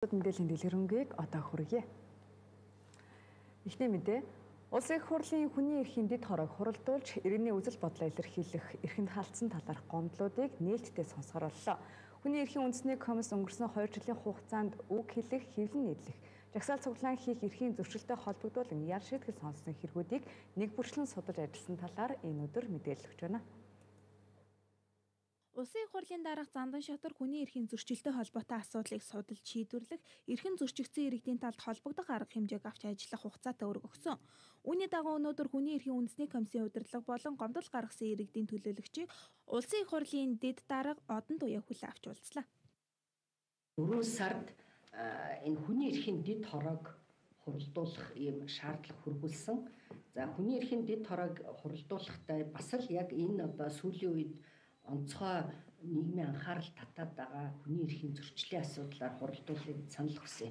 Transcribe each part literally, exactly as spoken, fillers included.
Мэдээллийн дэлгэрэнгийг одоо хүргье. Эхний мэдээ, улсын их хурлын хүний эрхийн дэд хорог хуралдуулж, иргэний үзэл бодлоо илэрхийлэх эрхэнд хаалтсан талаарх гомдлуудыг нээлттэй сонсгоор боллоо. Хүний эрхийн үндэсний комисс өнгөрсөн хоёр жилийн хугацаанд үг хэлэх, хэвлэн нийтлэх, жагсаал цуглаан хийх эрхийн зөрчилтэй холбогдуулан ял шийтгэл сонссон хэрэгүүдийг нэг бүрчлэн судалж ажилласан талаар энэ өдөр мэдээлэл өгч байна. Улсын их хурлын дараах Зандан шатар хүний эрхийн зөрчилтэй холбоотой асуудлыг судалж шийдвэрлэх, эрхэн зөрчигдсөн иргэдийн талд холбогдох арга хэмжээг авч ажиллах хугацаатай үүрэг өгсөн. Үүний дагуу өнөөдөр хүний эрхийн үндэсний комиссийн удирдлага болон гомдол гаргасан иргэдийн төлөөлөгчийг улсын их хурлын дэд дарга одон туяа хүлээн авч уулзлаа. Дөрвөн сард энэ хүний эрхийн дэд хорог хуралдуулах ийм шаардлага хүргүүлсэн. За хүний эрхийн дэд хорог хуралдуулахтай бас л яг энэ одоо сүүлийн үед онцгой нийгмийн анхаарал татаад байгаа хүний эрхийн зөрчлийн асуудлаар хуралдуулахыг санал хүсье.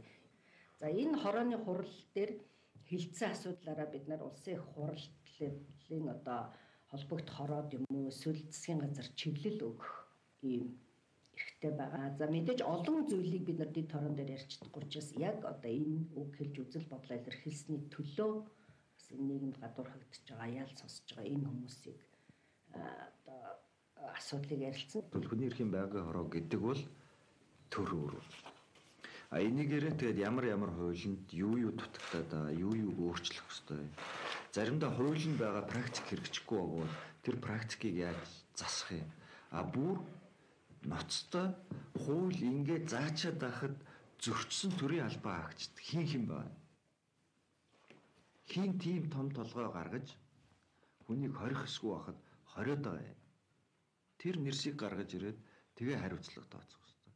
За энэ хорооны хурал дээр хилцсэн асуудлаараа бид нар улсын их хурлын одоо холбогдох хороод юм уу эсвэл засгийн газар чиглэл өгөх ийм эрхтэй байгаа. За мэдээж олон зүйлийг бид нар дэд хороон дээр ярьж чадахгүй учраас яг одоо энэ үг хэлж үзэл бодлоо илэрхийлсэний төлөө бас энэ нийгэмд гадуур хагдж байгаа, яал сонсож байгаа энэ хүмүүсийг одоо асуудлыг ярилцсан. Хүний эрхийн байнгын хороо гэдэг бол төр өөр. А энийгээр тэгээд ямар ямар хуулинд юу юу дутагдаад байгаа, юу юу өөрчлөх ёстой. Заримдаа хуулинд байгаа практик хэрэгжихгүй бол тэр практикийг яаж засах юм? А бүр ноцтой хууль ингээд заачаад байхад зөрчсөн төрийн албаа хаагчд хин хин байна. Хин тийм том толгой гаргаж хүнийг хорих эсгүй байхад хориод байгаа юм. Тэр нэрсийг гаргаж ирээд тэгээ хариуцлага тооцох хэрэгтэй.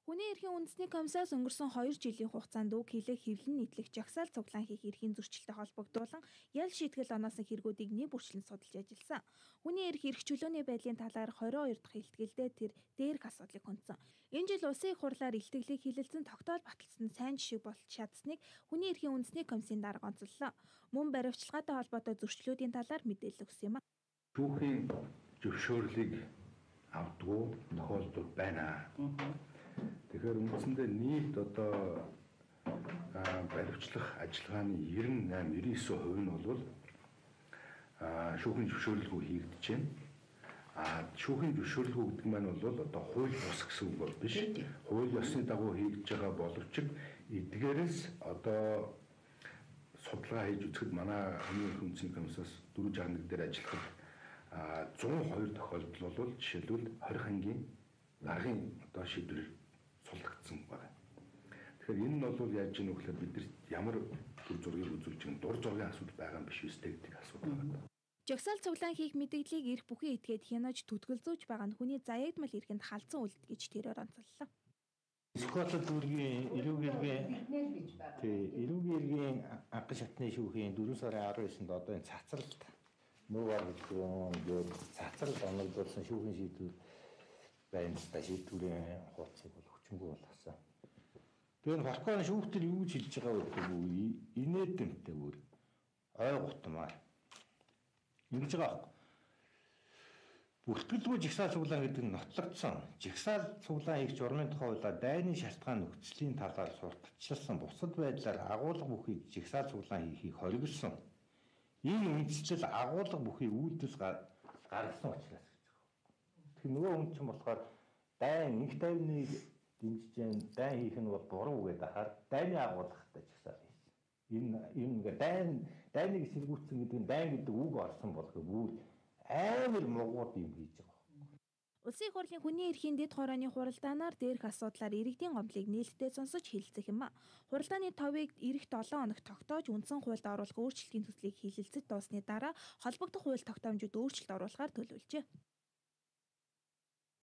Хүний эрхийн үндэсний комиссаас өнгөрсөн хоёр жилийн хугацаанд үг хэлэх, хэвлэн нийтлэх, жагсаал цуглаан хийх эрхийн зөрчилтэй холбогдуулан ял шийтгэл оноосон хэрэгүүдийг нэг бүрчлэн судалж ажилласан. Хүний эрх эрх чөлөөний байдлын талаар хорин хоёр дахь илтгэлдээ тэр дээрх асуудлыг хүндсэн. Энэ жил улсын их хурлаар илтгэлийг хилэлцэн тогтоол баталсан сайн жишээ болж чадсныг хүний эрхийн үндэсний комиссийн дарга онцоллоо. Мөн баривчилгаатай холбоотой зөрчлүүдийн талаар мэдээлэл өгсөн юм а. Түүхийн зөвшөөрлийг авдгүй тохиолдол байна. Тэгэхээр үндсэндээ нийт одоо баривчлах ажиллагааны девяносто восемь девяносто девять хувь нь бол шүүхийн зөвшөөрлгүй хийгдэж байна. А шүүхийн зөвшөөрлгүй гэдэг маань бол одоо хууль бус гэсэн үг бол биш. Хууль ёсны дагуу хийгдэж байгаа боловч эдгээрээс одоо судалгаа хийж үзэхэд манай хүний эрхийн үндэсний комиссаас дөрвөн жаахан нэг дээр ажиллахад зуун хоёр тохиолдол бол жишээлбэл хорих ангийн даргын одоо шийдвэр суллагдсан байна. Тэгэхээр энэ нь бол яаж ийм вэ гэхээр бид нар ямар төр зургийг үзүүлж байгаа дур зургийн асуудал байгаа юм биш үстэй гэдэг асуудал байна. Жагсаал цуглаан хийх мэдээллийг эрх бүхий этгээд хянаж түтгэлзүүж байгаа нь хүний заягдмал эрхэнд халдсан үйлдэл гэж тэрээр онцоллоо. Скотланд дүүргийн эрүүгийн эргийн тий эрүүгийн эргийн анхан шатны шүүхийн дөрвөн сарын арван есэнд одоо энэ цацралт нуугаар гэдэг цацрал оногдуулсан шүүхийн шийдвэр байна. Шийдвэрийн хуудсыг бол хүчингүй болгосон. Тэгэхээр Фалконы шүүхтэр юу гэж хэлж байгаа вэ гэдэг үү? Инээдэмтэй бүр ой гутмаар ингэж байгаа. Бүртгэлгүй жагсаал цуглаан гэдэг нь нотлогдсон. Жагсаал цуглаан хийх журмын тухай хуулиар дайны шалтгаан нөхцөлийн талаар сурталчилсан бусад байдлаар агуулга бүхий жагсаал цуглаан хийхийг хориглосон. Энэ үндсэл агуулга бүхий үйлдэл гаргасан учраас гэж байгаа. Тэгэхээр нөгөө хүн чинь болохоор дайн их тайвныг дэмжиж जैन дайн хийх нь бол буруу гэдэг ахаар дайны агуулгатай жагсаал хийсэн. Энэ энэ ингээ дайн дайныг сэргүүцсэн гэдэг нь дайн гэдэг үг орсон болохгүй бүр амар мугууд юм хийж байгаа. Улсын их хурлын хүний эрхийн дэд хорооны хуралдаанаар дээрх асуудлаар иргэдийн гомдлыг нээлттэй сонсож хэлэлцэх юм а. Хуралдааны товыг ирэх долоон хоног тогтоож үндсэн хуульд оруулах өөрчлөлтийн төслийг хилэлцэж дуусны дараа холбогдох хууль тогтоомжууд өөрчлөлт оруулахаар төлөвлөжээ.